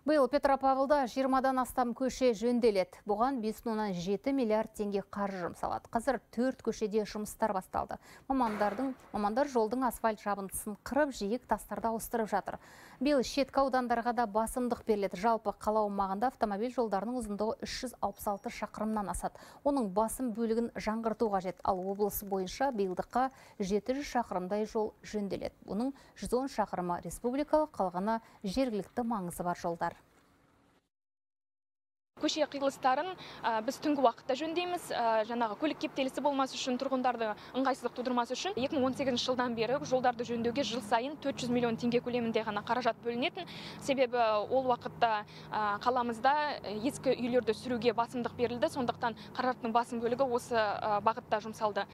Биыл Петропавлда 20-дан астам көше жөнделеді. Бұған 5,7 миллиард теңге қаржы жұмсалады. Қазір 4 көшеде жұмыстар басталды. Мамандар жолдың асфальт жабындысын қырып, жиек тастарды ауыстырып жатыр. Биыл шеткі аудандарға да басымдық беріледі. Жалпы қала аумағында автомобиль жолдарының ұзындығы 366 шақырымнан асады. Оның басым бөлігін жаңғырту қажет. Ал облыс бойынша биылдыққа 700 шақырымдай жол жөнделеді. Бұның 110 шақырымы республикалық, қалғаны жергілікті маңызы бар жолдар. Көше қиылыстарын біз түнгі уақытта жөндейміз. Жаңағы көлік кептелісі болмас үшін, тұрғындарды ыңғайсыздық тудырмас үшін 2018 жылдан бері жолдарды жөндеуге жыл сайын 400 миллион теңге көлемінде ғана қаражат бөлінетін. Себебі ол уақытта қаламызда ескі үйлерді сүруге басымдық берілді. Сондықтан қаражаттың басым бөлігі осы бағытта жұмсалды.